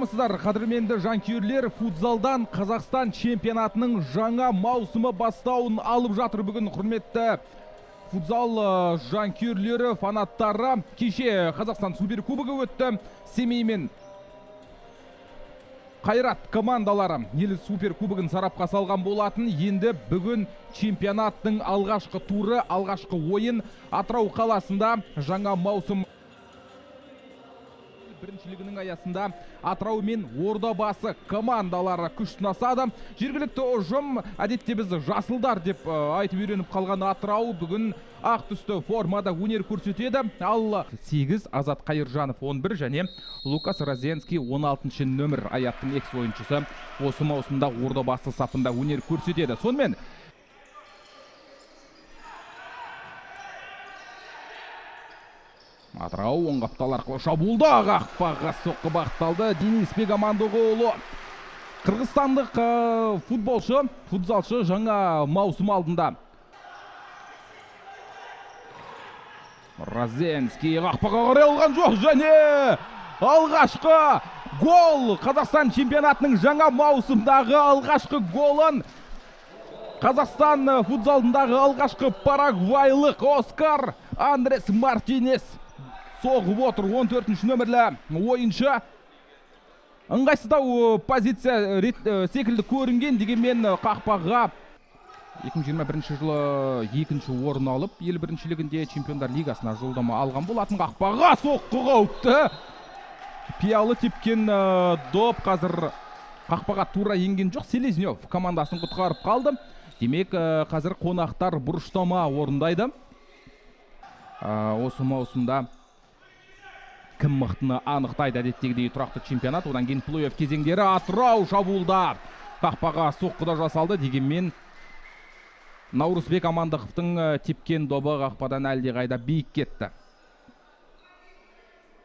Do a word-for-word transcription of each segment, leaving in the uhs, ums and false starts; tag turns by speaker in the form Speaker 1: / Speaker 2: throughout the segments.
Speaker 1: Армысыздар, қадірменді жанкүйерлер, футзалдан Қазақстан чемпионатының жаңа маусымы бастауын алып жатыр. Бүгін құрметті футзал жанкүйерлері, фанаттары, кеше Қазақстан суперкубогы өтті. Семей мен Қайрат командалары ел суперкубогын сарапқа салған болатын. Енді бүгін чемпионаттың алғашқы туры, алғашқы ойын Атырау қаласында жаңа маусым біріншілігінің аясында Атырау мен Ордабасы командалары күш сынасады. Жергілікті ұжым, әдетте біз жасылдар деп айтып үйреніп қалған Атырау бүгін ақ түсті формада өнер көрсетеді. Ал сегіз Азат Қайыржанов он бір және Лукас Розенский он алтыншы нөмір аяттың экс ойыншысы осы маусымда Ордабасы сапында өнер көрсетеді. Сонымен Атырау оң қаптал арқылы шабуылда қақпаға соққы бағытталды. Денисбек Амандоғұлы, қырғызстандық футболшы, футзалшы жаңа маусым алдында. Розенский қақпаға қарай алған жоқ және алғашқы гол. Қазақстан чемпионатының жаңа маусымдағы алғашқы голын Қазақстан футзалындағы алғашқы парагвайлық Оскар Андрес Мартинес соғып отыр. он төртінші нөмірлі ойыншы. Ыңғайсыздау позиция секілді көрінген, дегенмен қақпаға екі мың жиырма бірінші жылы екінші орын алып, ел біріншілігінде Чемпиондар лигасына жолдама алған болатын. Қақпаға соққы қауіпті. Пиялы тепкен доп қазір қақпаға тура енген жоқ. Селезнев командасын құтқарып қалды. Демек, қазір қонақтар бұрыштама орындайды. Осы маусымда кім мықтыны анықтайды, әдеттегідей тұрақты чемпионат. Одан кейін плей-офф кезеңдері. Атырау шабуылда қақпаға соққыда жасалды. Дегенмен Наурызбек Амандықовтың тепкен добы қақпадан әлдеқайда биік кетті.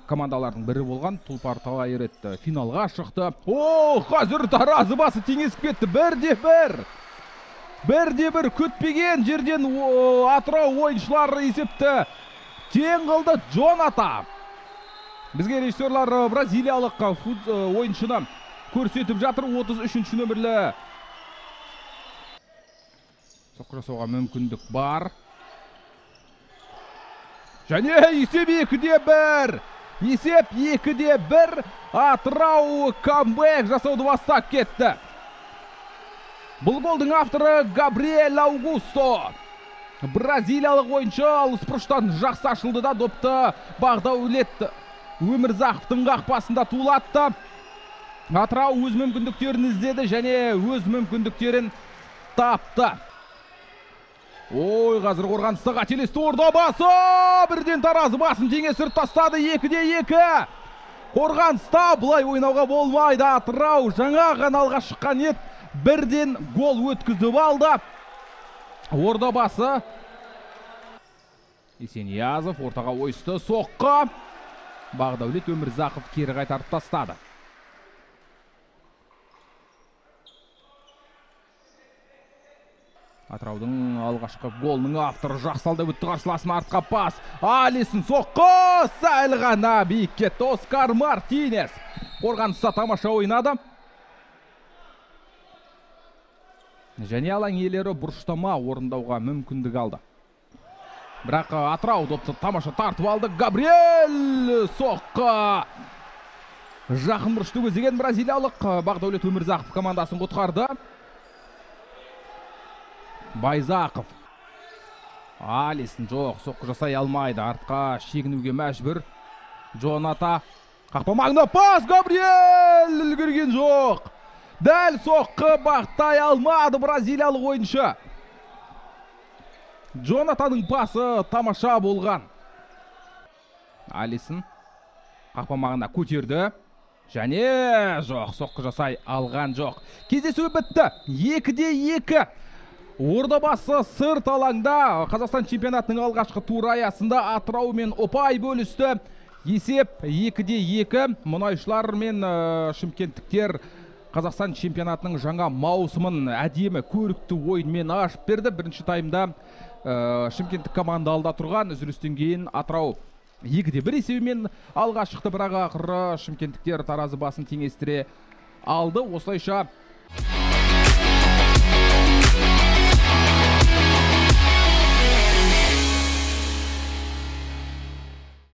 Speaker 1: Командалардың бірі болған Тұлпар Талайрет финалға шықты. О, қазір таразы басы теңесіп кетті. Бірде бір. Бірде бір күтпеген жерден Атырау ойыншылары есепті тең қылды. Джоната. Бізге режиссерлар бразилиялық ойыншыны көрсетіп жатыр. отыз үшінші нөмірлі соққы жасауға мүмкіндік бар. Және есеп екіде бір. Есеп екіде бір. Атырау камбэк жасауды бастап кетті. Бұл голдың авторы Габриэль Аугусто. Бразилиялық ойыншы алыс бұрыштан жақсы ашылды да допты Бағдаулет Өмірзақовтың қақпасында тулатты. Атырау өз мүмкіндіктерін іздеді және өз мүмкіндіктерін тапты. Ой, қазір қорғаныста қателесті Ордабасы. Бірден таразы басын теңесіп тастады. екіде екі. Қорғаныста бұлай ойнауға болмайды. Атырау жаңа ғана алға шыққан ет. Бірден гол өткізіп алды. Ордабасы. Есениязов ортаға ойысты. Соққы. Бағдаулет Өмірзақов кері қайтарып тастады. Атыраудың алғашқы голының авторы жақсалды өтті, қарсыласын артқа пас. Алисын соққы. Сәл ғана биік кетті. Оскар Мартинес қорғаныста тамаша ойнады. Және алаң иелері бұрыштама орындауға мүмкіндік алды. Бірақ Атырау допты тамаша тартып алды. Габриэль соққы. Жақын бұрышты көздеген бразилиялық Бағдаулет Өмірзақов командасын құтқарды. Байзақов. Алисын жоқ, соққы жасай алмайды. Артқа шегінуге мәжбүр. Джоната. Қақпа маңына пас. Габриэль үлгерген жоқ. Дәл соққы бақтай алмады бразилиялық ойыншы. Джонатаның пасы тамаша болған. Алисын қақпа маңына көтерді. Және жоқ, соққы жасай алған жоқ. Кездесу бітті. екіде екі. Ордабасы сырт алаңда Қазақстан чемпионатының алғашқы туры аясында Атырау мен ұпай бөлісті. Есеп екіде екі. Мұнайшылар мен шымкенттіктер Қазақстан чемпионатының жаңа маусымын әдемі көрікті ойынмен ашып берді. Бірінші таймда Шымкенттік команда алда тұрған, үзілістен кейін Атырау екіде бір есебімен алға шықты, бірақ ақыры шымкенттіктер таразы басын теңестіре алды. Осылайша